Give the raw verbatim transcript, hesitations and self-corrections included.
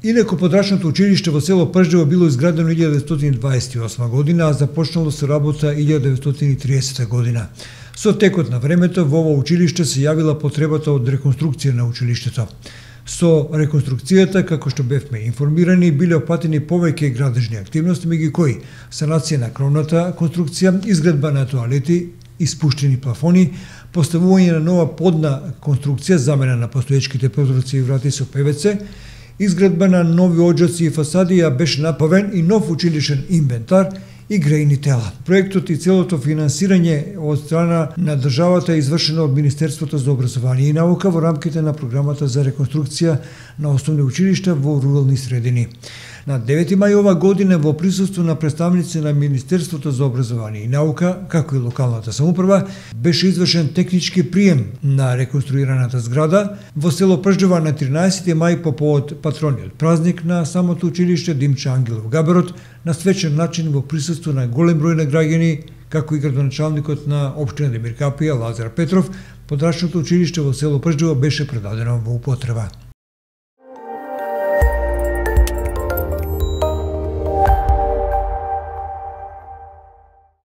Инаку подрачното училиште во село Пржево било изградено илјада деветстотини дваесет и осма година, а започнало со работа илјада деветстотини и тридесета година. Со текот на времето во ова училиште се јавила потребата од реконструкција на училиштето. Со реконструкцијата, како што бевме информирани, биле опатени повеќе градежни активности, меѓу кои санација на кровната конструкција, изградба на тоалети, испуштени плафони, поставување на нова подна конструкција, замена на постоечките прозорци и врати со пе ве це, изградба на нови оџаци и фасади, а беше направен и нов училишен инвентар и грејни тела. Проектот и целото финансирање од страна на државата е извршено од Министерството за образование и наука во рамките на програмата за реконструкција на основни училишта во рурални средини. На девети мај ова година во присуство на представници на Министерството за образование и наука, како и локалната самоуправа, беше извршен технички прием на реконструираната зграда во село Пржево на тринаесети мај по повод патрониот празник на самото училиште Димче Ангелов Габерот на свечен начин во присуство на голем број на граѓани, како и градоначалникот на општина Демир Капија Лазар Петров. Подрачното училиште во село Пржево беше предадено во употреба.